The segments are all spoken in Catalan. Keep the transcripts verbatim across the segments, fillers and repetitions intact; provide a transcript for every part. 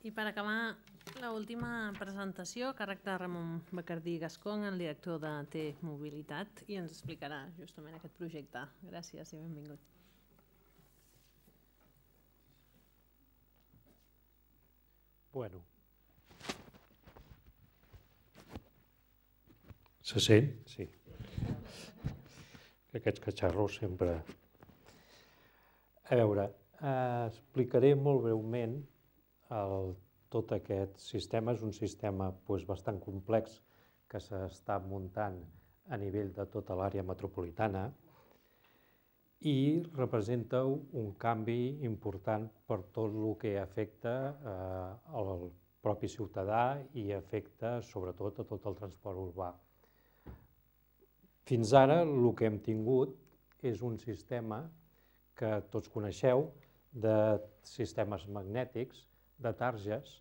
I per acabar, l'última presentació, a càrrec de Ramon Bacardí Gascón, el director de T-Mobilitat, i ens explicarà justament aquest projecte. Gràcies i benvingut. Bueno. Se sent? Sí. Aquests catxarros sempre... A veure, eh, explicaré molt breument el, tot aquest sistema. És un sistema doncs, bastant complex que s'està muntant a nivell de tota l'àrea metropolitana i representa un canvi important per tot el que afecta eh, al propi ciutadà i afecta sobretot a tot el transport urbà. Fins ara el que hem tingut és un sistema que tots coneixeu de sistemes magnètics, de targes,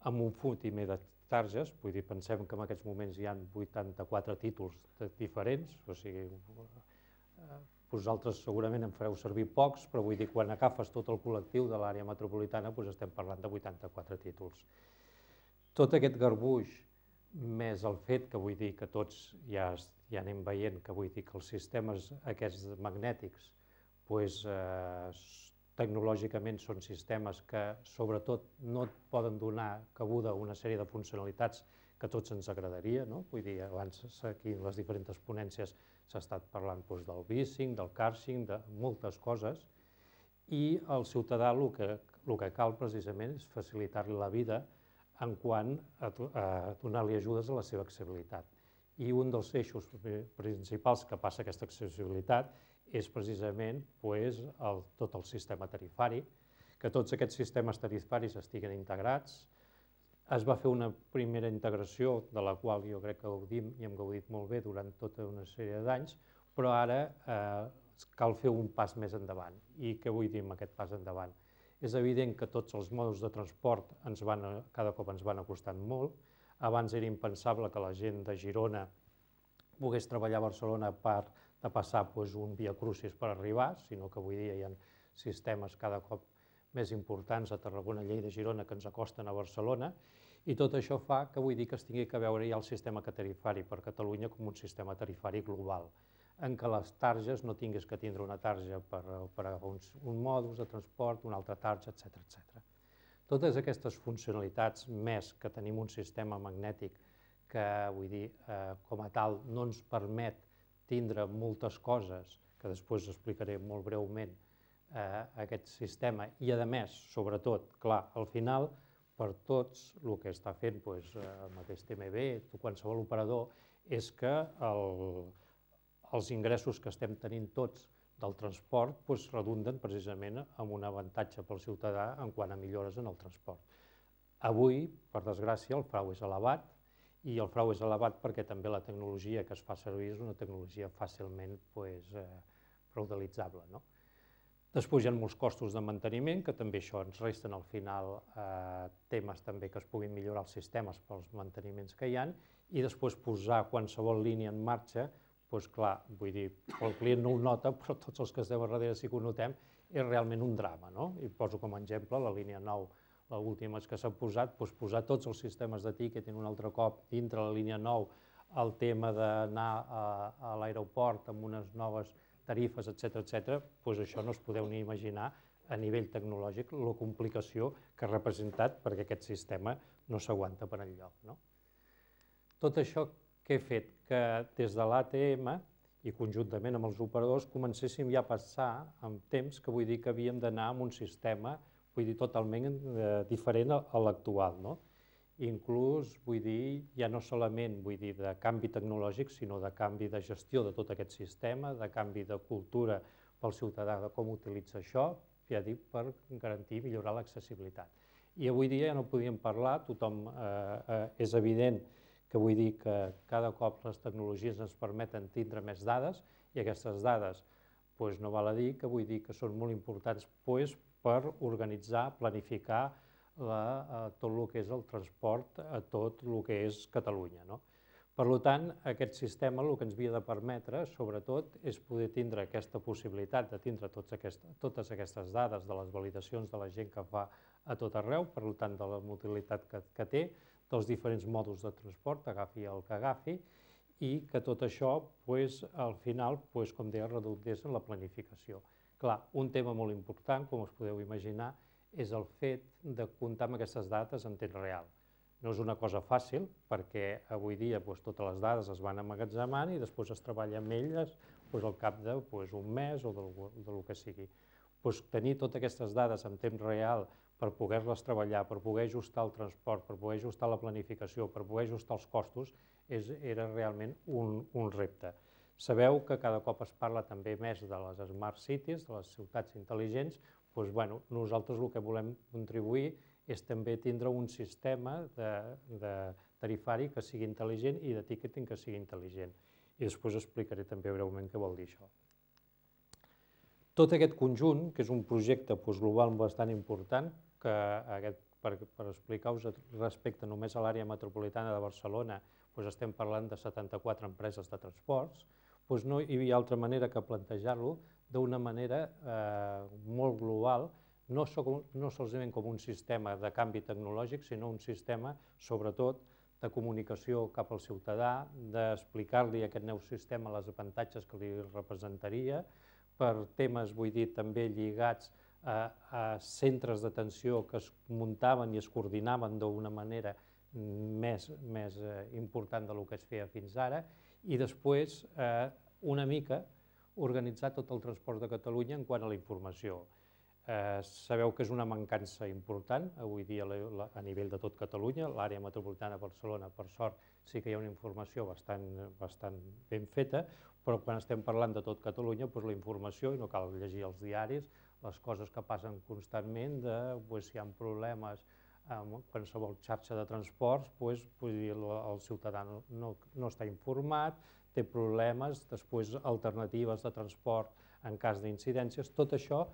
amb un fotimer de targes, vull dir, pensem que en aquests moments hi ha vuitanta-quatre títols diferents, o sigui, vosaltres segurament en fareu servir pocs, però vull dir, quan agafes tot el col·lectiu de l'àrea metropolitana doncs estem parlant de vuitanta-quatre títols. Tot aquest garbuix, més el fet que vull dir que tots ja, ja anem veient que vull dir que els sistemes aquests magnètics doncs, eh, tecnològicament són sistemes que sobretot no et poden donar cabuda a una sèrie de funcionalitats que a tots ens agradaria, no? Vull dir, abans aquí en les diferents ponències s'ha estat parlant doncs, del bicing, del carsharing, de moltes coses, i al ciutadà el que, el que cal precisament és facilitar-li la vida en quant a, a donar-li ajudes a la seva accessibilitat. I un dels eixos principals que passa aquesta accessibilitat és precisament pues, el, tot el sistema tarifari, que tots aquests sistemes tarifaris estiguen integrats. Es va fer una primera integració de la qual jo crec que gaudim i hem gaudit molt bé durant tota una sèrie d'anys, però ara eh, cal fer un pas més endavant. I què vull dir amb aquest pas endavant? És evident que tots els modes de transport ens van, cada cop ens van acostant molt. Abans era impensable que la gent de Girona pogués treballar a Barcelona per de passar doncs, un via crucis per arribar, sinó que avui dia hi ha sistemes cada cop més importants a Tarragona, Lleida, Girona, que ens acosten a Barcelona, i tot això fa que vull dir que es tingui que veure ja el sistema tarifari per Catalunya com un sistema tarifari global, en què les targes no tinguis que tindre una tarja per, per un, un modus de transport, una altra tarja, etcètera, etcètera. Totes aquestes funcionalitats, més que tenim un sistema magnètic que, vull dir, eh, com a tal, no ens permet tindre moltes coses, que després explicaré molt breument, eh, aquest sistema, i a més, sobretot, clar, al final, per tots, el que està fent doncs, el mateix T M B, qualsevol operador, és que el, els ingressos que estem tenint tots del transport doncs, redunden precisament en un avantatge pel ciutadà en quant a millores en el transport. Avui, per desgràcia, el frau és elevat, i el frau és elevat perquè també la tecnologia que es fa servir és una tecnologia fàcilment pues, eh, fraudalitzable. No? Després hi ha molts costos de manteniment, que també això ens resten al final eh, temes també que es puguin millorar els sistemes pels manteniments que hi ha, i després posar qualsevol línia en marxa, doncs clar, vull dir, el client no ho nota, però tots els que estem a darrere sí que ho notem, és realment un drama. No? I poso com a exemple la línia nou, l'última que s'ha posat, doncs posar tots els sistemes de ticketing un altre cop dintre la línia nou, el tema d'anar a, a l'aeroport amb unes noves tarifes, etcètera, etcètera, doncs això no es podeu ni imaginar a nivell tecnològic la complicació que ha representat perquè aquest sistema no s'aguanta per enlloc. No? Tot això que he fet, que des de l'A T M i conjuntament amb els operadors comencéssim ja a passar en temps que vull dir que havíem d'anar amb un sistema vull dir, totalment eh, diferent a l'actual. No? Inclús, vull dir, ja no solament vull dir, de canvi tecnològic, sinó de canvi de gestió de tot aquest sistema, de canvi de cultura pel ciutadà de com utilitza això, ja dic, per garantir i millorar l'accessibilitat. I avui dia ja no podíem parlar, tothom eh, eh, és evident que vull dir que cada cop les tecnologies ens permeten tindre més dades i aquestes dades doncs, no val a dir que vull dir que són molt importants doncs, per organitzar, planificar la, eh, tot el que és el transport a tot el que és Catalunya. No? Per tant, aquest sistema el que ens havia de permetre, sobretot, és poder tindre aquesta possibilitat de tindre totes aquestes dades de les validacions de la gent que fa a tot arreu, per tant, de la utilitat que té, dels diferents mòduls de transport, agafi el que agafi, i que tot això, al final, com deia, redundés en la planificació. Clar, un tema molt important, com us podeu imaginar, és el fet de comptar amb aquestes dades en temps real. No és una cosa fàcil, perquè avui dia totes les dades es van emmagatzemant i després es treballa amb elles al cap d'un mes o del que sigui. Tenir totes aquestes dades en temps real per poder-les treballar, per poder ajustar el transport, per poder ajustar la planificació, per poder ajustar els costos, era realment un repte. Sabeu que cada cop es parla també més de les Smart Cities, de les ciutats intel·ligents. Nosaltres el que volem contribuir és també tindre un sistema tarifari que sigui intel·ligent i de ticketing que sigui intel·ligent. I després explicaré també breument què vol dir això. Tot aquest conjunt, que és un projecte global bastant important, per explicar-vos respecte només a l'àrea metropolitana de Barcelona, estem parlant de setanta-quatre empreses de transports, no hi havia altra manera que plantejar-lo d'una manera molt global, no solament com un sistema de canvi tecnològic, sinó un sistema, sobretot, de comunicació cap al ciutadà, d'explicar-li a aquest nou sistema les avantatges que li representaria, per temes, vull dir, també lligats a centres d'atenció que es muntaven i es coordinaven d'una manera més important del que es feia fins ara, i després, una mica, organitzar tot el transport de Catalunya en quant a la informació. Sabeu que és una mancança important, avui dia a nivell de tot Catalunya, l'àrea metropolitana de Barcelona, per sort, sí que hi ha una informació bastant ben feta, però quan estem parlant de tot Catalunya, la informació, i no cal llegir els diaris, les coses que passen constantment, si hi ha problemes amb qualsevol xarxa de transports, el ciutadà no està informat, té problemes, després alternatives de transport en cas d'incidències, tot això,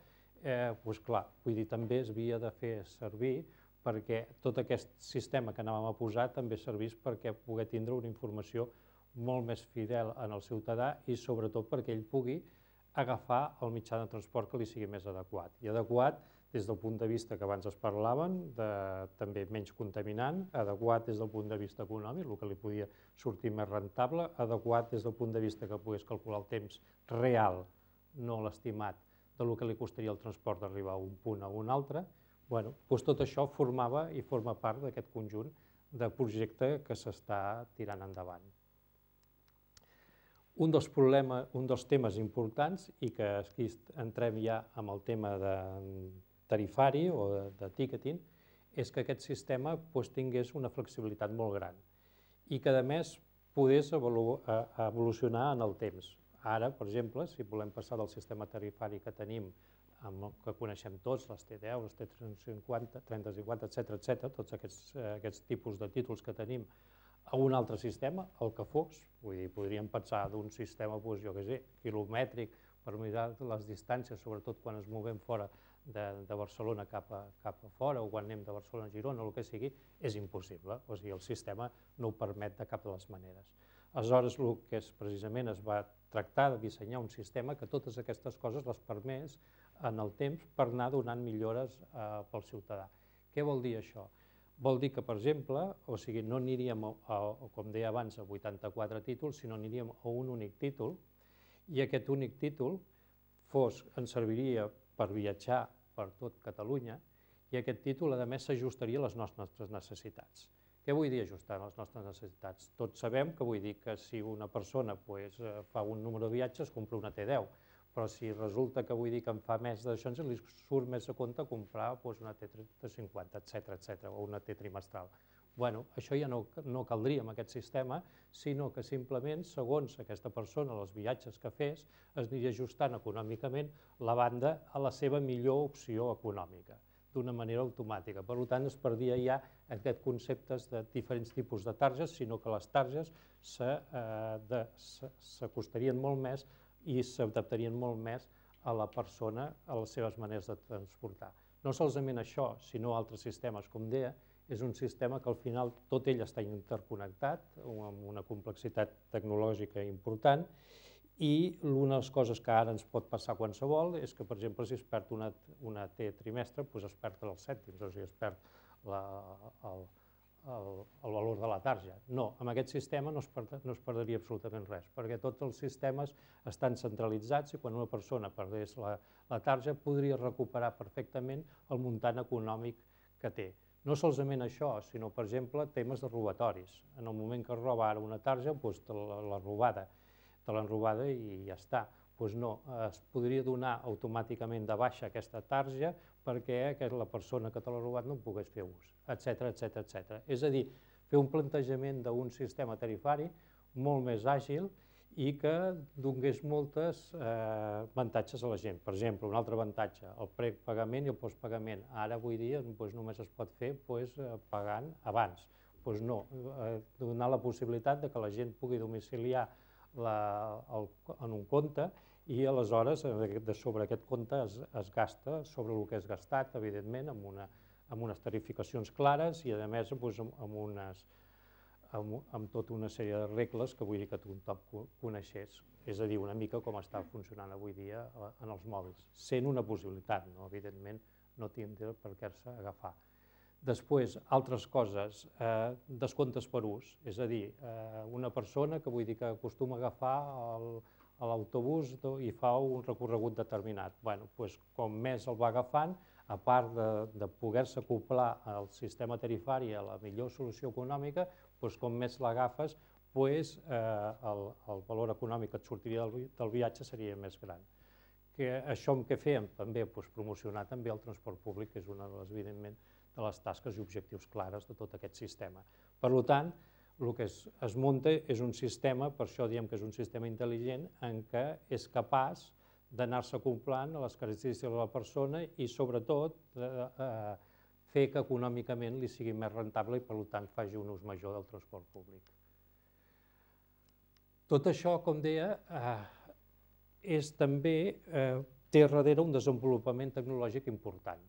clar, vull dir, també es havia de fer servir perquè tot aquest sistema que anàvem a posar també servís perquè pugui tindre una informació molt més fidel en el ciutadà i sobretot perquè ell pugui agafar el mitjà de transport que li sigui més adequat. I adequat des del punt de vista que abans es parlaven, també menys contaminant, adequat des del punt de vista econòmic, el que li podia sortir més rentable, adequat des del punt de vista que pogués calcular el temps real, no l'estimat, del que li costaria el transport d'arribar a un punt a un altre. Doncs tot això formava i forma part d'aquest conjunt de projecte que s'està tirant endavant. Un dels problemes, un dels temes importants, i que aquí entrem ja amb el tema tarifari o de ticketing, és que aquest sistema tingués una flexibilitat molt gran i que, a més, pogués evolucionar en el temps. Ara, per exemple, si volem passar del sistema tarifari que tenim, que coneixem tots, les T deu, les T trenta cinquanta, etcètera, tots aquests tipus de títols que tenim, a un altre sistema, el que fos, vull dir, podríem passar d'un sistema, jo què sé, quilomètric, per mirar les distàncies, sobretot quan ens movem fora de Barcelona cap a fora o quan anem de Barcelona a Girona o el que sigui, és impossible. O sigui, el sistema no ho permet de cap de les maneres. Aleshores, el que precisament es va tractar de dissenyar un sistema que totes aquestes coses les permés en el temps per anar donant millores pel ciutadà. Què vol dir això? Vol dir que, per exemple, o sigui, no aniríem, com deia abans, a vuitanta-quatre títols, sinó aniríem a un únic títol i aquest únic títol ens serviria per viatjar per tot Catalunya i aquest títol, a més, s'ajustaria a les nostres necessitats. Què vull dir ajustar a les nostres necessitats? Tots sabem que vull dir que si una persona fa un número de viatges, compra una T deu, però si resulta que vull dir que en fa més d'això, ens li surt més a compte comprar una T trenta cinquanta, etcètera, o una T trimestral. Bé, això ja no caldria amb aquest sistema, sinó que simplement, segons aquesta persona, els viatges que fes, es aniria ajustant econòmicament la banda a la seva millor opció econòmica, d'una manera automàtica. Per tant, es perdia ja aquests conceptes de diferents tipus de targes, sinó que les targes s'acostarien molt més i s'adaptarien molt més a la persona, a les seves maneres de transportar. No solament això, sinó altres sistemes, com deia, és un sistema que al final tot ell està interconnectat, amb una complexitat tecnològica important, i una de les coses que ara ens pot passar qualsevol és que, per exemple, si es perd una, una T trimestre, doncs es perden els cèntims, o sigui, es perd la, el, el, el valor de la tarja. No, amb aquest sistema no es, per, no es perdria absolutament res, perquè tots els sistemes estan centralitzats i quan una persona perdés la, la tarja podria recuperar perfectament el muntant econòmic que té. No solament això, sinó, per exemple, temes de robatoris. En el moment que es roba ara una tarja, doncs te la, la robada, te l'han robada i ja està. Doncs no, es podria donar automàticament de baixa aquesta tarja perquè la persona que te l'ha robat no en pogués fer ús, etcètera, etcètera, etcètera. És a dir, fer un plantejament d'un sistema tarifari molt més àgil i que donés moltes eh, avantatges a la gent. Per exemple, un altre avantatge, el prepagament i el postpagament. Ara, avui dia, doncs, només es pot fer doncs, pagant abans. Doncs no, eh, donar la possibilitat de que la gent pugui domiciliar la, el, en un compte i aleshores de sobre aquest compte es, es gasta sobre el que és gastat, evidentment, amb, una, amb unes tarificacions clares i, a més, doncs, amb, amb unes Amb, amb tota una sèrie de regles que vull dir que tothom coneixés. És a dir, una mica com està funcionant avui dia en els mòbils, sent una possibilitat, no? Evidentment no tindrà per què-se agafar. Després, altres coses, eh, descomptes per ús, és a dir, eh, una persona que vull dir que acostuma a agafar l'autobús i fa un recorregut determinat. Bueno, doncs, com més el va agafant, a part de, de poder-se acoplar al sistema tarifari a la millor solució econòmica, doncs com més l'agafes, doncs, eh, el, el valor econòmic que et sortiria del, del viatge seria més gran. Que això amb què fem? També doncs, promocionar també el transport públic, que és una de les, evidentment, de les tasques i objectius clares de tot aquest sistema. Per tant, el que es, es munta és un sistema, per això diem que és un sistema intel·ligent, en què és capaç d'anar-se acoplant a les característiques de la persona i, sobretot, eh, eh, fer que econòmicament li sigui més rentable i, per tant, faci un ús major del transport públic. Tot això, com deia, eh, és també, eh, té darrere un desenvolupament tecnològic important.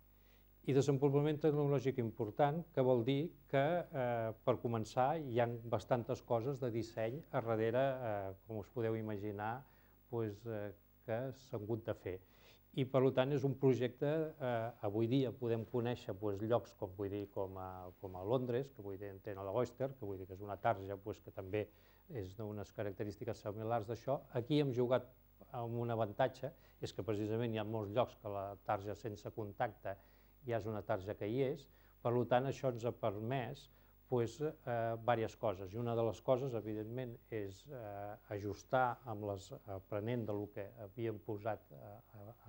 I desenvolupament tecnològic important que vol dir que, eh, per començar, hi ha bastantes coses de disseny a darrere, eh, com us podeu imaginar, doncs, eh, que s'han hagut de fer. I, per tant, és un projecte, eh, avui dia podem conèixer doncs, llocs com, vull dir, com, a, com a Londres, que vull dir, tenen l'Oyster, que vull dir que és una tarja doncs, que també és d'unes característiques similars d'això. Aquí hem jugat amb un avantatge, és que precisament hi ha molts llocs que la tarja sense contacte ja és una tarja que hi és, per tant, això ens ha permès doncs, eh, diverses coses. I una de les coses, evidentment, és eh, ajustar amb les, aprenent del que havíem posat eh,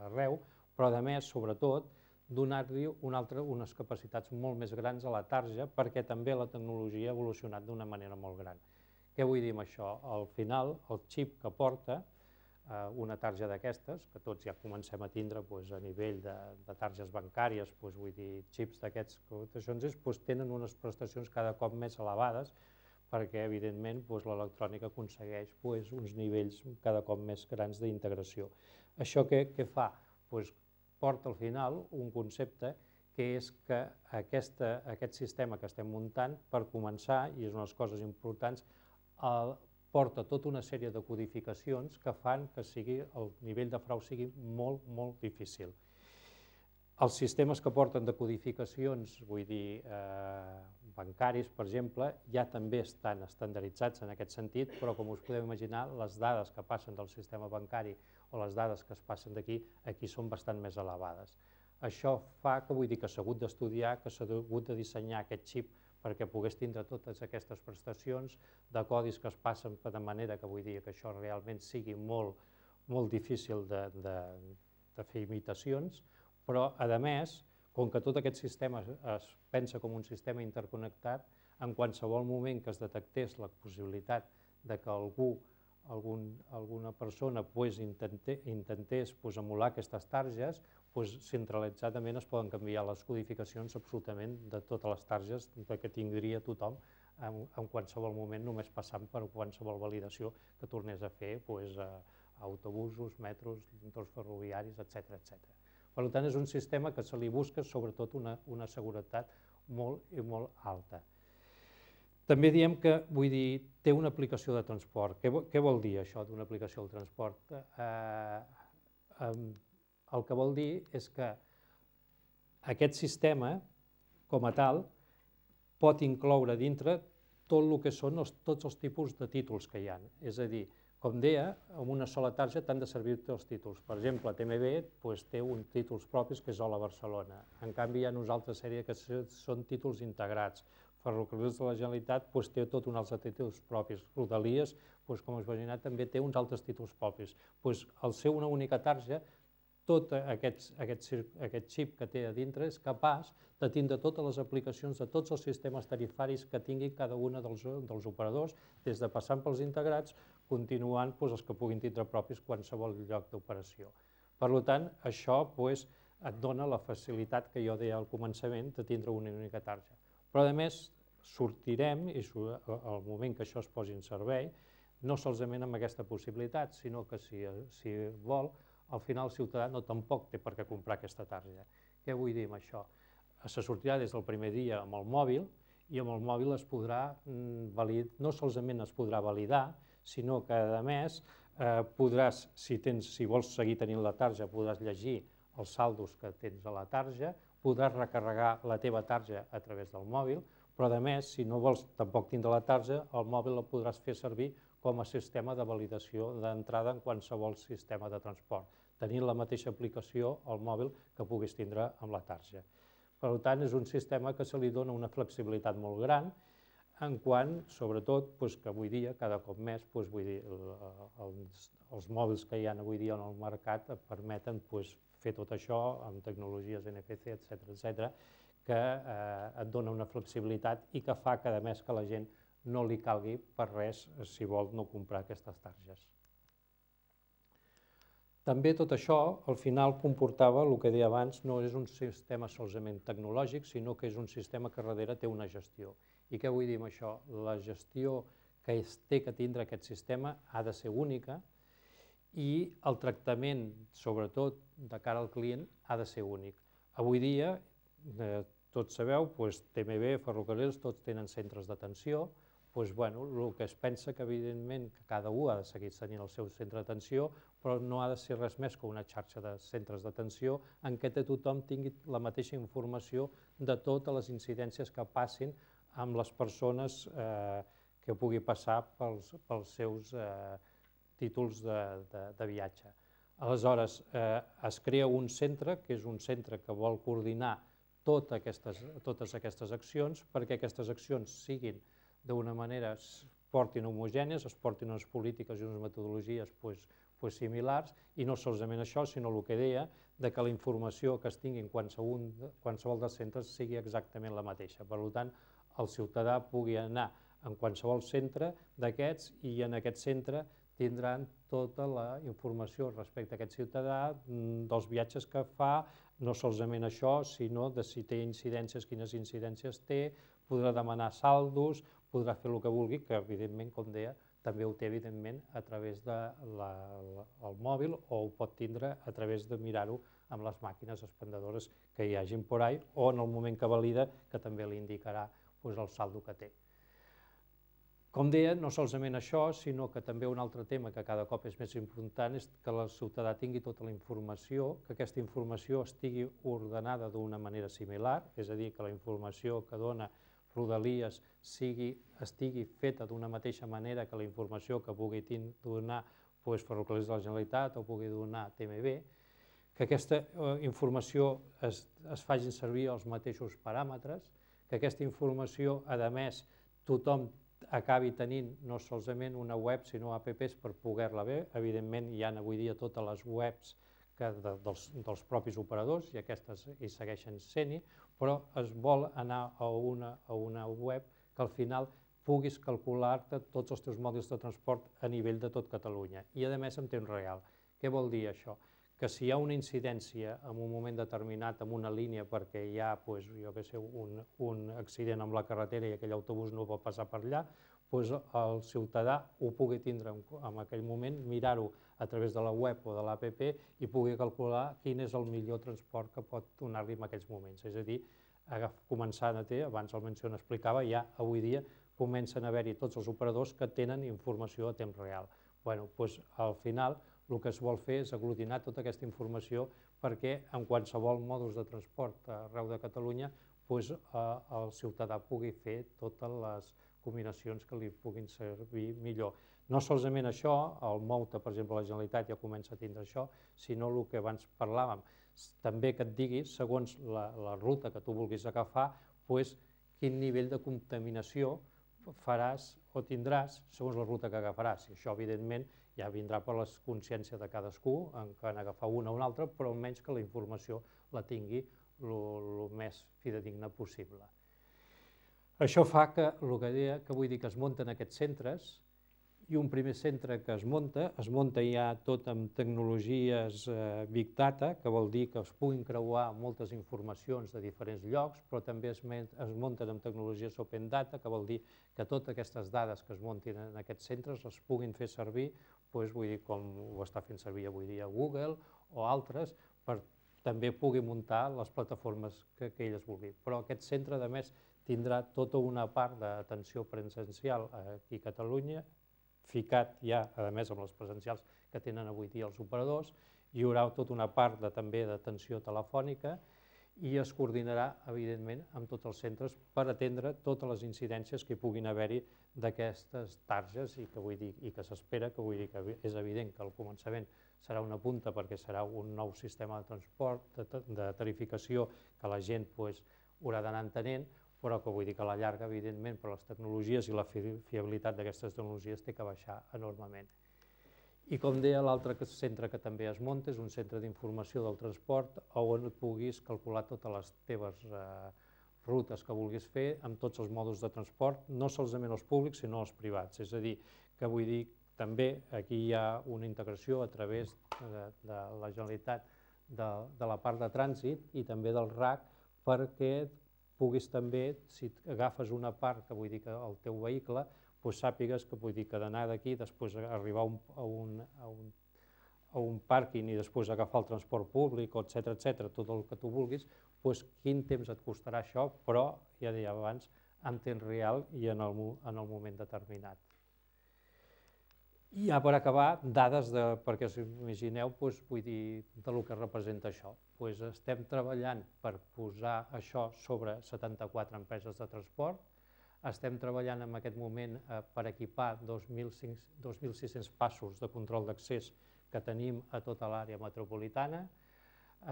arreu, però, a més, sobretot, donar-li un altre, unes capacitats molt més grans a la tarja perquè també la tecnologia ha evolucionat d'una manera molt gran. Què vull dir amb això? Al final, el xip que porta eh, una tarja d'aquestes, que tots ja comencem a tindre doncs, a nivell de, de targes bancàries, doncs, vull dir, xips d'aquests, doncs, tenen unes prestacions cada cop més elevades perquè, evidentment, doncs, l'electrònica aconsegueix doncs, uns nivells cada cop més grans d'integració. Això què, què fa? Doncs, porta al final un concepte que és que aquesta, aquest sistema que estem muntant, per començar, i és una de les coses importants, el, porta tota una sèrie de codificacions que fan que sigui, el nivell de frau sigui molt, molt difícil. Els sistemes que porten de codificacions, vull dir, eh, bancaris, per exemple, ja també estan estandarditzats en aquest sentit, però com us podeu imaginar, les dades que passen del sistema bancari o les dades que es passen d'aquí, aquí són bastant més elevades. Això fa que, vull dir, que s'ha hagut d'estudiar, que s'ha hagut de dissenyar aquest xip perquè pogués tindre totes aquestes prestacions de codis que es passen de manera que vull dir que això realment sigui molt, molt difícil de, de, de fer imitacions, però, a més, com que tot aquest sistema es pensa com un sistema interconnectat, en qualsevol moment que es detectés la possibilitat de que algú, algun, alguna persona pues, intenté, intentés pues, emular aquestes targes, pues, centralitzadament es poden canviar les codificacions absolutament de totes les targes que tindria tothom en, en qualsevol moment, només passant per qualsevol validació que tornés a fer pues, a, a autobusos, metros, entorns ferroviaris, etcètera, etcètera. Per tant, és un sistema que se li busca sobretot una, una seguretat molt i molt alta. També diem que, vull dir, té una aplicació de transport. Què, què vol dir això d'una aplicació de transport? Eh, eh, el que vol dir és que aquest sistema, com a tal, pot incloure dintre tot el que són els, tots els tipus de títols que hi ha. És a dir, com deia, amb una sola targeta t'han de servir tots els títols. Per exemple, T M B doncs, té uns títols propis que és Hola Barcelona. En canvi, hi ha una altra sèrie que són títols integrats. Ferrocarrils de la Generalitat doncs, té tot un altre títols propis. Rodalies, doncs, com us imagineu, també té uns altres títols propis. Doncs, al ser una única targeta, tot aquest, aquest, aquest xip que té a dintre és capaç de tindre totes les aplicacions de tots els sistemes tarifaris que tinguin cada una dels, dels operadors, des de passant pels integrats, continuant doncs, els que puguin tindre propis qualsevol lloc d'operació. Per tant, això doncs, et dona la facilitat que jo deia al començament de tindre una única targeta. Però, a més, sortirem, i al moment que això es posi en servei, no solament amb aquesta possibilitat, sinó que si, si vol, al final el ciutadà no tampoc té per què comprar aquesta targeta. Què vull dir amb això? Se sortirà des del primer dia amb el mòbil i amb el mòbil es podrà validar, no solament es podrà validar, sinó que a més eh, podràs, si, tens, si vols seguir tenint la targeta, podràs llegir els saldos que tens a la targeta, podràs recarregar la teva targeta a través del mòbil, però a més, si no vols tampoc tindre la targeta, el mòbil el podràs fer servir com a sistema de validació d'entrada en qualsevol sistema de transport, tenint la mateixa aplicació al mòbil que puguis tindre amb la targeta. Per tant, és un sistema que se li dona una flexibilitat molt gran, en quant, sobretot, que avui dia, cada cop més, vull dir, els, els mòbils que hi ha avui dia en el mercat et permeten fer tot això amb tecnologies N F C, etcètera, etcètera, que et dona una flexibilitat i que fa cada mes que la gent no li calgui per res si vol no comprar aquestes targetes. També tot això, al final, comportava, el que deia abans, no és un sistema solament tecnològic, sinó que és un sistema que darrere té una gestió. I què vull dir amb això? La gestió que es té que tindre aquest sistema ha de ser única i el tractament, sobretot de cara al client, ha de ser únic. Avui dia, tots sabeu, T M B, ferrocarrils, tots tenen centres d'atenció, doncs, bueno, el que es pensa que, evidentment, que cada un ha de seguir tenint el seu centre d'atenció, però no ha de ser res més que una xarxa de centres d'atenció en què tothom tingui la mateixa informació de totes les incidències que passin amb les persones eh, que pugui passar pels, pels seus eh, títols de, de, de viatge. Aleshores, eh, es crea un centre, que és un centre que vol coordinar tot aquestes, totes aquestes accions, perquè aquestes accions siguin d'una manera, es portin homogènies, es portin unes polítiques i unes metodologies pues, pues similars, i no solament això, sinó el que deia, de que la informació que es tingui en qualsevol, qualsevol dels centres sigui exactament la mateixa. Per tant, el ciutadà pugui anar en qualsevol centre d'aquests i en aquest centre tindran tota la informació respecte a aquest ciutadà, dels viatges que fa, no solament això, sinó de si té incidències, quines incidències té, podrà demanar saldos, podrà fer el que vulgui, que evidentment, com deia, també ho té evidentment a través del mòbil o ho pot tindre a través de mirar-ho amb les màquines expendedores que hi hagin por ahí o en el moment que valida, que també li indicarà el saldo que té. Com deia, no solament això, sinó que també un altre tema que cada cop és més important és que el ciutadà tingui tota la informació, que aquesta informació estigui ordenada d'una manera similar, és a dir, que la informació que dona Rodalies estigui feta d'una mateixa manera que la informació que pugui donar Ferrocarrils de la Generalitat o pugui donar T M B, que aquesta informació es faci servir els mateixos paràmetres, que aquesta informació, a més, tothom acabi tenint no solament una web, sinó apps per poder-la veure. Evidentment, hi ha avui dia totes les webs dels propis operadors i aquestes hi segueixen sent-hi, però es vol anar a una web que al final puguis calcular-te tots els teus mòduls de transport a nivell de tot Catalunya i, a més, en temps real. Què vol dir això? Que si hi ha una incidència en un moment determinat en una línia perquè hi ha un accident amb la carretera i aquell autobús no pot passar per allà, el ciutadà ho pugui tindre en aquell moment, mirar-ho a través de la web o de l'app i pugui calcular quin és el millor transport que pot donar-li en aquells moments. És a dir, començant a ter, abans el Menciona explicava, ja avui dia comencen a haver-hi tots els operadors que tenen informació a temps real. Bueno, doncs, al final el que es vol fer és aglutinar tota aquesta informació perquè en qualsevol mòduls de transport arreu de Catalunya doncs, el ciutadà pugui fer totes les combinacions que li puguin servir millor. No solament això, el Mouta, per exemple, la Generalitat ja comença a tindre això, sinó el que abans parlàvem, també que et digui, segons la, la ruta que tu vulguis agafar, doncs, quin nivell de contaminació faràs o tindràs segons la ruta que agafaràs. I això, evidentment, ja vindrà per la consciència de cadascú en què en agafar una o una altra, però almenys que la informació la tingui el més fidedigna possible. Això fa que, el que deia, que vull dir que es munten aquests centres, i un primer centre que es munta, es munta ja tot amb tecnologies Big Data, que vol dir que es puguin creuar moltes informacions de diferents llocs, però també es munten amb tecnologies Open Data, que vol dir que totes aquestes dades que es muntin en aquests centres les puguin fer servir, vull dir, com ho està fent servir avui dia Google o altres, per també pugui muntar les plataformes que elles vulguin. Però aquest centre, a més, tindrà tota una part d'atenció presencial aquí a Catalunya, ficat ja, a més, amb les presencials que tenen avui dia els operadors, hi haurà tota una part també d'atenció telefònica i es coordinarà, evidentment, amb tots els centres per atendre totes les incidències que hi puguin haver-hi d'aquestes targes i que vull dir, i que s'espera, que vull dir que és evident que al començament serà una punta perquè serà un nou sistema de transport, de tarificació que la gent haurà d'anar entenent, però que vull dir que a la llarga, evidentment, per les tecnologies i la fiabilitat d'aquestes tecnologies té que baixar enormement. I com deia, l'altre centre que també es munta és un centre d'informació del transport on puguis calcular totes les teves rutes que vulguis fer amb tots els mòduls de transport, no solament els públics, sinó els privats. És a dir, que vull dir, també aquí hi ha una integració a través de la Generalitat de la part de trànsit i també del R A C perquè puguis també, si agafes una part, que vull dir que el teu vehicle, doncs sàpigues que vull dir que d'anar d'aquí, després arribar a un pàrquing i després agafar el transport públic, etcètera, etcètera, tot el que tu vulguis, doncs quin temps et costarà això, però, ja deia abans, en temps real i en el moment determinat. I ja per acabar, dades perquè us imagineu del que representa això. Estem treballant per posar això sobre setanta-quatre empreses de transport, estem treballant en aquest moment per equipar dos mil sis-cents passos de control d'accés que tenim a tota l'àrea metropolitana,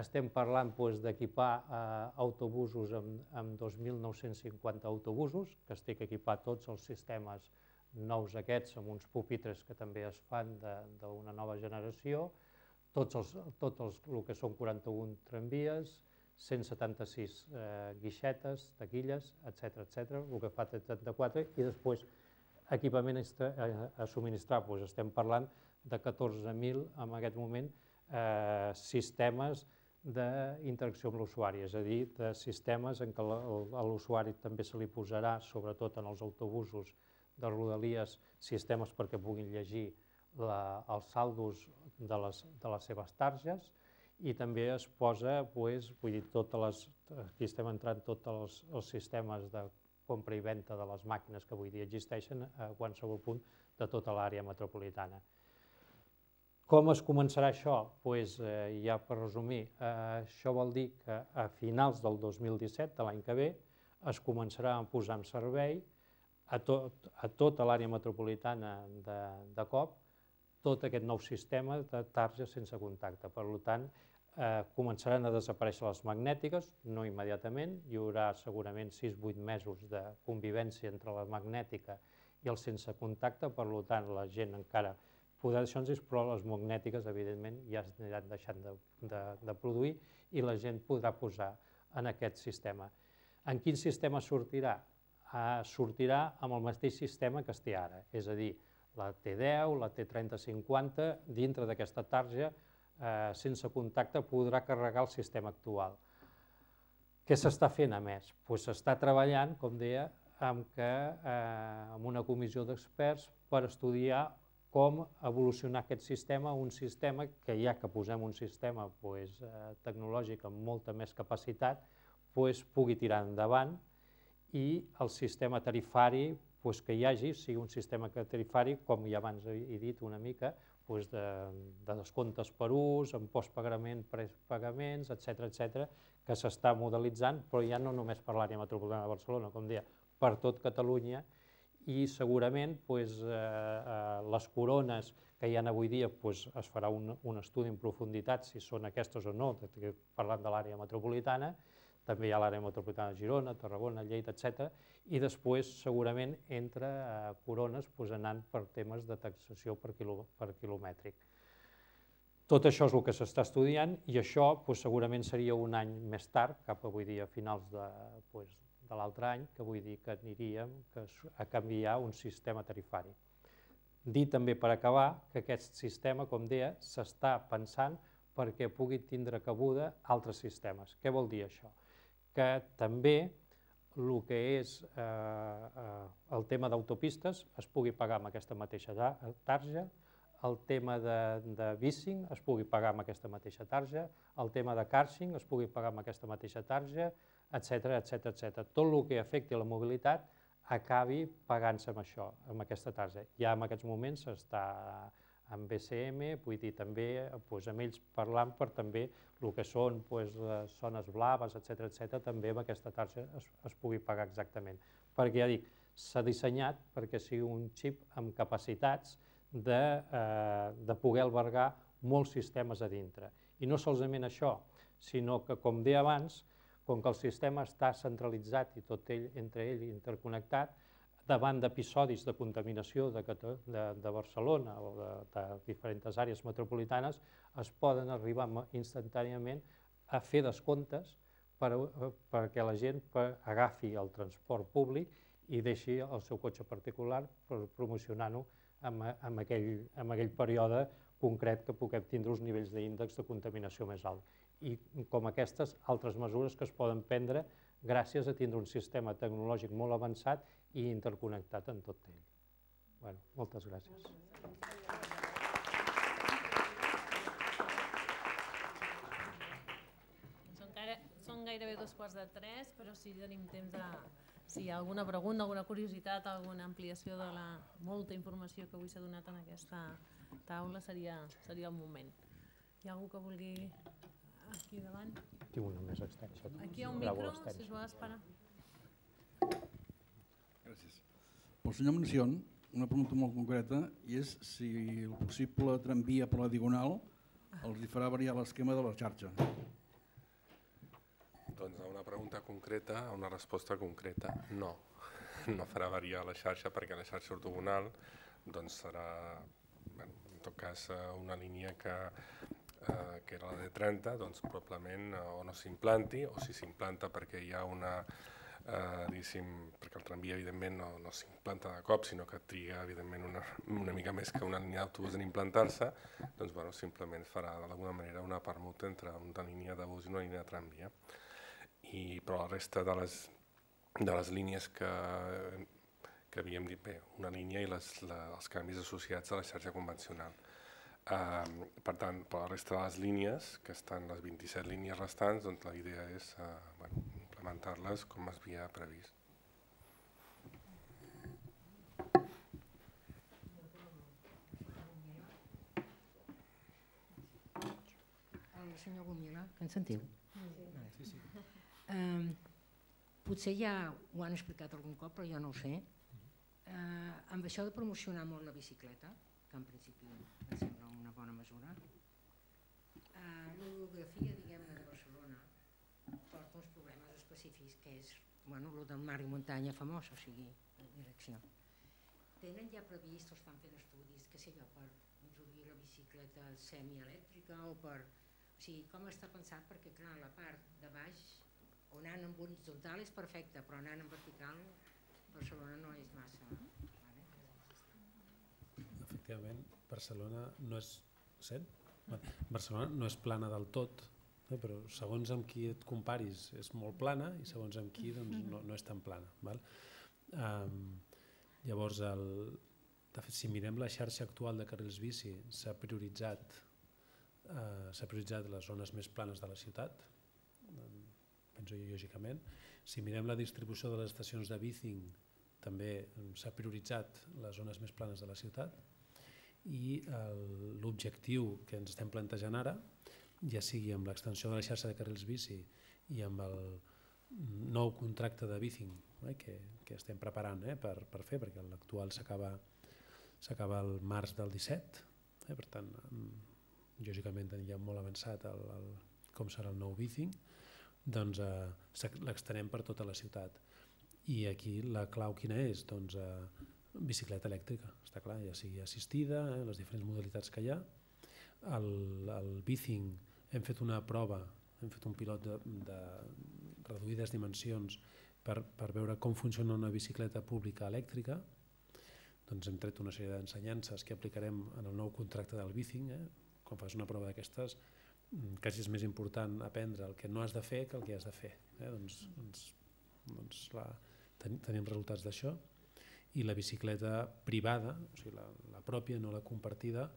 estem parlant d'equipar autobusos amb dos mil nou-cents cinquanta autobusos, que es té que equipar tots els sistemes nous aquests, amb uns pupitres que també es fan d'una nova generació, tots el que són quaranta-un tramvies, cent setanta-sis guixetes, taquilles, etcètera, etcètera, el que fa trenta-quatre, i després equipament a subministrar, estem parlant de catorze mil en aquest moment sistemes d'interacció amb l'usuari, és a dir, de sistemes en què a l'usuari també se li posarà, sobretot en els autobusos de Rodalies, sistemes perquè puguin llegir els saldos de les seves targes i també es posa, vull dir, aquí estem entrant tots els sistemes de compra i venda de les màquines que avui dia existeixen a qualsevol punt de tota l'àrea metropolitana. Com es començarà això? Doncs ja per resumir, això vol dir que a finals del dos mil disset, de l'any que ve, es començarà a posar en servei a tota l'àrea metropolitana de cop, tot aquest nou sistema de targes sense contacte. Per tant, començaran a desaparèixer les magnètiques, no immediatament, hi haurà segurament sis a vuit mesos de convivència entre la magnètica i el sense contacte, per tant, la gent encara podrà deixar uns, però les magnètiques, evidentment, ja es aniran deixant de produir i la gent podrà posar en aquest sistema. En quin sistema sortirà? Sortirà amb el mateix sistema que es té ara, és a dir, la T deu, la T trenta cinquanta, dintre d'aquesta tarja sense contacte podrà carregar el sistema actual. Què s'està fent a més? S'està treballant, com deia, amb una comissió d'experts per estudiar com evolucionar aquest sistema, un sistema que ja que posem un sistema tecnològic amb molta més capacitat, pugui tirar endavant i el sistema tarifari que hi hagi sigui un sistema tarifari, com ja abans he dit una mica, de descomptes per ús, en postpagament, prepagaments, etcètera, etcètera, que s'està modelitzant, però ja no només per l'àrea metropolitana de Barcelona, com deia, per tot Catalunya, i segurament les corones que hi ha avui dia es farà un estudi en profunditat si són aquestes o no, parlant de l'àrea metropolitana. També hi ha l'àrea metropolitana de Girona, Tarragona, Lleida, etcètera, i després segurament entre corones anant per temes de taxació per quilomètric. Tot això és el que s'està estudiant i això segurament seria un any més tard, cap a avui dia finals de l'altre any, que vull dir que aniríem a canviar un sistema tarifari. Dir també per acabar que aquest sistema, com deia, s'està pensant perquè pugui tindre cabuda altres sistemes. Què vol dir això? Que també el que és el tema d'autopistes es pugui pagar amb aquesta mateixa tarja, el tema de bicing es pugui pagar amb aquesta mateixa tarja, el tema de carsing es pugui pagar amb aquesta mateixa tarja, etcètera, etcètera. Tot el que afecti la mobilitat acabi pagant-se amb això, amb aquesta tarja. Ja en aquests moments està amb B C M, vull dir, també amb ells parlant per també el que són zones blaves, etcètera, etcètera, també amb aquesta tarja es pugui pagar exactament. Perquè ja dic, s'ha dissenyat perquè sigui un xip amb capacitats de poder albergar molts sistemes a dintre. I no solament això, sinó que, com deia abans, com que el sistema està centralitzat i tot ell entre ell interconnectat, davant d'episodis de contaminació de Barcelona o de diferents àrees metropolitanes, es poden arribar instantàniament a fer descomptes perquè la gent agafi el transport públic i deixi el seu cotxe particular promocionant-ho en aquell període concret que puguem tindre uns nivells d'índex de contaminació més alt. I com aquestes altres mesures que es poden prendre gràcies a tindre un sistema tecnològic molt avançat i interconnectat en tot ell. Bé, moltes gràcies. Són gairebé dos quarts de tres, però si tenim temps de... Si hi ha alguna pregunta, alguna curiositat, alguna ampliació de la molta informació que avui s'ha donat en aquesta taula, seria el moment. Hi ha algú que vulgui... Aquí davant? Tinc una més extensa. Aquí hi ha un micro, si es vol esperar. Gràcies. Pel senyor Mencion, una pregunta molt concreta, i és si el possible tramvia per la Diagonal els hi farà variar l'esquema de la xarxa. Doncs a una pregunta concreta, a una resposta concreta, no. No farà variar la xarxa perquè la xarxa ortogonal serà, en tot cas, una línia que que era la D trenta, doncs probablement o no s'implanti, o si s'implanta perquè hi ha una, diguéssim, perquè el tramvia evidentment no s'implanta de cop, sinó que triga evidentment una mica més que una línia d'autobús en implantar-se, doncs simplement farà d'alguna manera una permuta entre una línia de bus i una línia de tramvia. Però la resta de les línies que havíem dit, bé, una línia i els canvis associats a la xarxa convencional. Per tant, per la resta de les línies, que estan les vint-i-set línies restants, doncs la idea és implementar-les com es havia previst. El senyor Gomila, que ens sentiu? Sí, sí. Potser ja ho han explicat algun cop, però jo no ho sé. Amb això de promocionar molt la bicicleta, que en principi em sembla una bona mesura, l'orografia, diguem-ne, de Barcelona porta uns problemes específics, que és el del mar i muntanya famós, o sigui, direcció. Tenen ja previst o estan fent estudis, què sé jo, per introduir la bicicleta semielèctrica o per... O sigui, com està pensat? Perquè, clar, la part de baix, on anant en horitzontal és perfecta, però anant en vertical, Barcelona no és massa... Efectivament, Barcelona no és... Sent? Barcelona no és plana del tot, però segons amb qui et comparis és molt plana i segons amb qui no és tan plana. Llavors, si mirem la xarxa actual de carrils bici, s'ha prioritzat les zones més planes de la ciutat, penso jo, lògicament. Si mirem la distribució de les estacions de bicing, també s'ha prioritzat les zones més planes de la ciutat, i l'objectiu que ens estem plantejant ara, ja sigui amb l'extensió de la xarxa de carrils bici i amb el nou contracte de bicing eh, que, que estem preparant eh, per, per fer, perquè l'actual s'acaba s'acaba el març del disset, eh, per tant, lògicament ja molt avançat el, el, com serà el nou bicing, doncs eh, l'extenem per tota la ciutat. I aquí la clau quina és? Doncs eh, bicicleta elèctrica, està clar, ja sigui assistida, eh, les diferents modalitats que hi ha. El, el bicing hem fet una prova, hem fet un pilot de, de reduïdes dimensions per, per veure com funciona una bicicleta pública elèctrica. Doncs hem tret una sèrie d'ensenyances que aplicarem en el nou contracte del bicing. Eh? Quan fas una prova d'aquestes, quasi és més important aprendre el que no has de fer que el que has de fer. Eh? Doncs, doncs, doncs la, ten, tenim resultats d'això. I la bicicleta privada, o sigui la, la pròpia, no la compartida,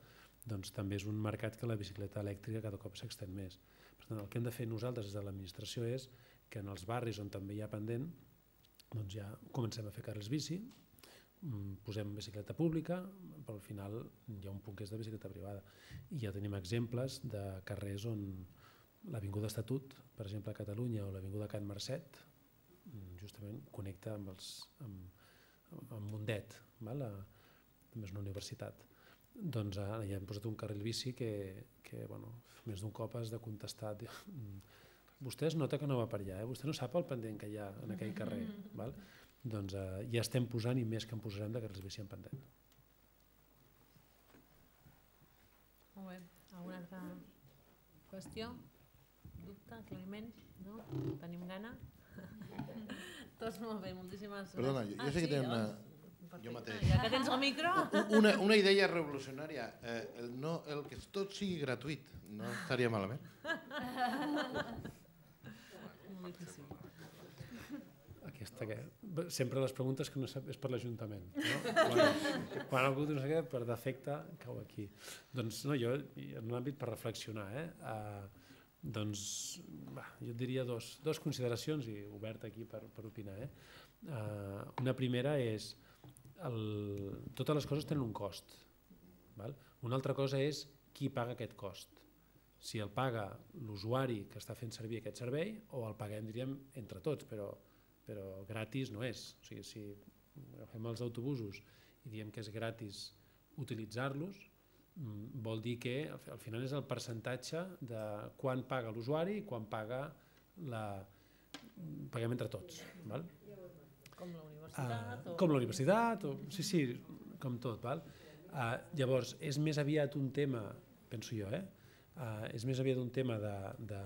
doncs també és un mercat que la bicicleta elèctrica cada cop s'extén més. Per tant, el que hem de fer nosaltres des de l'administració és que en els barris on també hi ha pendent, doncs ja comencem a fer carrils bici, posem bicicleta pública, però al final hi ha un punt que és de bicicleta privada. I ja tenim exemples de carrers on l'Avinguda Estatut, per exemple a Catalunya, o l'Avinguda Can Marcet, justament connecta amb, els, amb, amb Mundet, val? A, també és una universitat. Doncs ara ja hem posat un carril bici que, que bueno, més d'un cop has de contestar. Vostè es nota que no va per allà, eh? Vostè no sap el pendent que hi ha en aquell carrer. Val? Doncs eh, ja estem posant i més que en posarem de carrils bici en pendent. Molt bé. Alguna altra qüestió? Dubte? Aclariment? No? Tenim gana? Tots molt bé, moltíssimes gràcies. Perdona, jo, jo sé que tenen una... Perfecte. Jo mateix. Ja que tens el micro... Una, una idea revolucionària. Eh, el, no, el que tot sigui gratuït no estaria malament. Molt difícil. Aquesta que... Sempre les preguntes que no sap és per l'Ajuntament. No? Quan, quan algú no sé què, per defecte, cau aquí. Doncs no, jo, en un àmbit per reflexionar, eh? Uh, doncs, va, jo et diria dos, dos consideracions i obert aquí per, per opinar. Eh? Uh, una primera és el, totes les coses tenen un cost. Val? Una altra cosa és qui paga aquest cost. Si el paga l'usuari que està fent servir aquest servei o el paguem, diríem, entre tots, però, però gratis no és. O sigui, si agafem els autobusos i diem que és gratis utilitzar-los, vol dir que al final és el percentatge de quan paga l'usuari i quan paga la... paguem entre tots. Val? Com la universitat? Uh, o... com la universitat, o... sí, sí, com tot. Val? Uh, llavors, és més aviat un tema, penso jo, eh? uh, és més aviat un tema de, de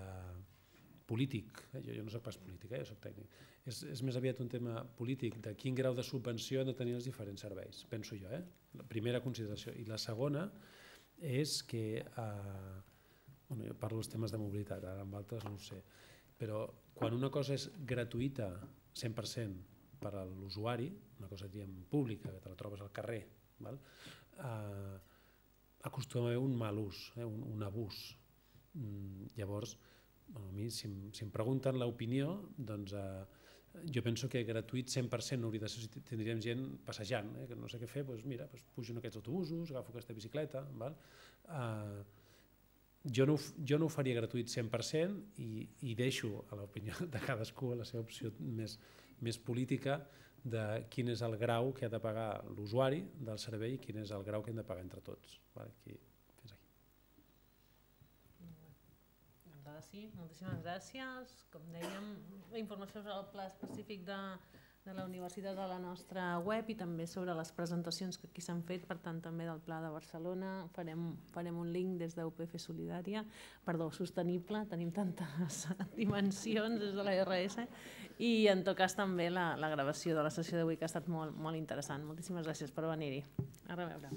polític, eh? jo, jo no soc pas polític, eh? Jo soc tècnic, és, és més aviat un tema polític de quin grau de subvenció han de tenir els diferents serveis, penso jo. Eh? La primera consideració. I la segona és que, uh, bueno, jo parlo dels temes de mobilitat, ara amb altres no ho sé, però quan una cosa és gratuïta cent per cent per a l'usuari, una cosa diguem pública, que te la trobes al carrer, val? Uh, acostuma a haver un mal ús, eh? un, un abús. Mm, llavors, bueno, a mi, si, si em pregunten l'opinió, doncs uh, jo penso que gratuït cent per cent no hauria de ser, si tindríem gent passejant, eh? Que no sé què fer, doncs mira, doncs pujo en aquests autobusos, agafo aquesta bicicleta, val? Uh, jo, no, jo no ho faria gratuït cent per cent i, i deixo a l'opinió de cadascú, a la seva opció més, més política, de quin és el grau que ha de pagar l'usuari del servei i quin és el grau que hem de pagar entre tots. Val? Aquí, fins aquí. Sí, moltíssimes gràcies. Com dèiem, la informació sobre el pla específic de, de la universitat a la nostra web i també sobre les presentacions que aquí s'han fet, per tant també del Pla de Barcelona. Farem, farem un link des d'U P F Solidària, perdó, sostenible, tenim tantes dimensions des de la R S, i en tot cas també la, la gravació de la sessió d'avui que ha estat molt, molt interessant. Moltíssimes gràcies per venir-hi. A reveure.